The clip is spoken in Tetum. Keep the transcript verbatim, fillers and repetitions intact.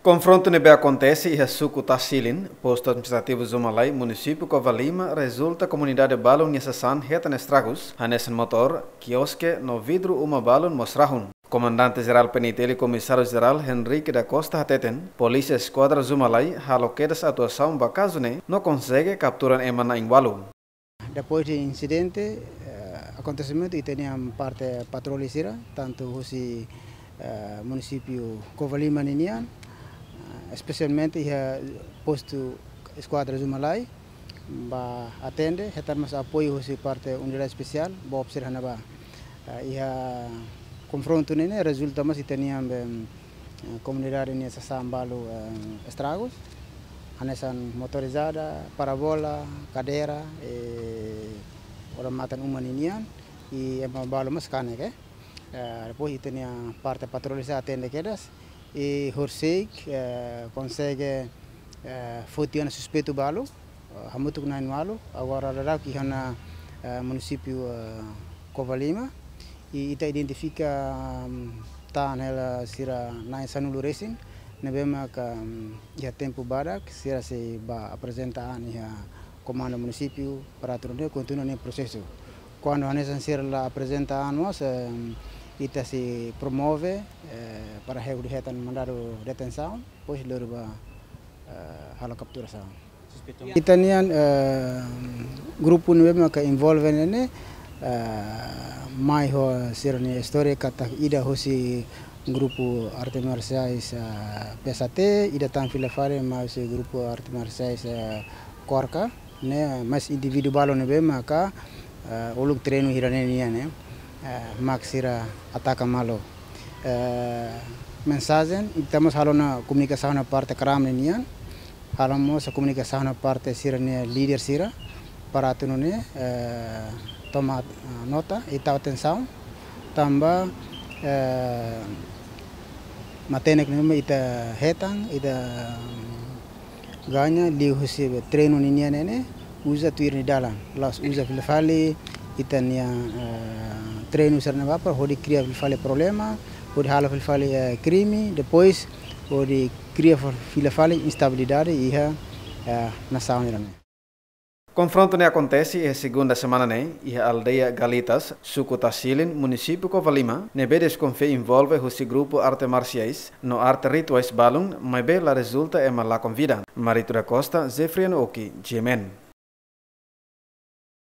Konfrontu ne'ebé akontese iha suku Tasilin, postu administrativu Zumalai, munisípiu Covalima, rezulta komunidade balun nia sasán hetan estragus, hanesan motór, kioske no vidru uma balun mós rahun. Komandante Jerál P N I T L, Komisáriu Jerál Henrique da Costa hateten, Polísia Eskuadra Zumalai halo kedas atuasaun ba kazu ne'e no konsege kaptura ema na'in-ualu. Depois de insidente, eh, akontesimentu, ita-nia parte patroli sira, tantu husi, eh, munisípiu Covalima ninian, eh, espesialmente iha postu Eskuadra Zumalai, ba atende, hetan mós apoiu husi parte unidade espesiál, BOP sira iha ne'ebá. Eh, iha konfrontu ne'e ne'e rezulta mós ita-nia be, eh, komunidade nia sasán balu, eh, estragus, hanesan motorizada, parabola, kadeira, eh, odamatan uma ninian, i ema balu mós kanek, eh. Eh, depois ita-nia parte patroli sira atende kedas, i horisehik, eh, konsege, eh, foti ona suspeitu balu, eh, hamutuk na'in-ualu, agora daudaun iha ona, eh, munisípiu, eh, Covalima, i ita identifika, mm, tan hela sira na'in sanulu resin, ne'ebé maka, mm, iha tempu badak, sira sei ba aprezenta an iha komandu munisípiu, para atu nune'e kontinua nia prosesu. Kuandu hanesan sira la aprezenta an mós, em, ita sei promove, eh, para hodi hetan mandadu detensaun, depois lori ba, eh, halo kapturasaun. Ita-nian, eh, grupu ne'ebé maka envolve ne'e ne'e, eh, mai ho sira-nia istória katak ida husi grupu arte marsiais, eh, P S A T, ida tan fila fali mai husi grupu arte marsiais, eh, KORKA, ne'e, mas indivíduu balu ne'ebé maka, eh, uluk treinu hira ne'e nian, ne'e, eh, mak sira ataka malu. Eh, mensajen, ita mós halo ona komunikasaun iha parte KRAM ne'e nian, halo mós komunikasaun iha parte sira-nia líder sira, para atu nune'e, eh, toma, eh, nota, i tau atensaun, tanba, eh, matenek ne'ebé ita hetan, ita, mm, gaña liuhusi treinu ninian ne'e ne'e, uza tuir nia dalan. La'ós uza fila fali ita-nia, eh, treinu sira ne'ebá para hodi kria fila fali problema, hodi halo fila fali, eh, krime, depois hodi kria fa-, fila fali instabilidade iha, eh, nasaun ida-ne'e. Konfrontu ne'e akontese iha segunda semana ne'e, iha aldeia Galitas, suku Tasilin, munisípiu Covalima, ne'ebé deskonfia envolve husi grupu arte marsiais no arte rituais balun, maibé la rezulta ema lakon vida. Marito da Costa, Zefriano Oki, G M N.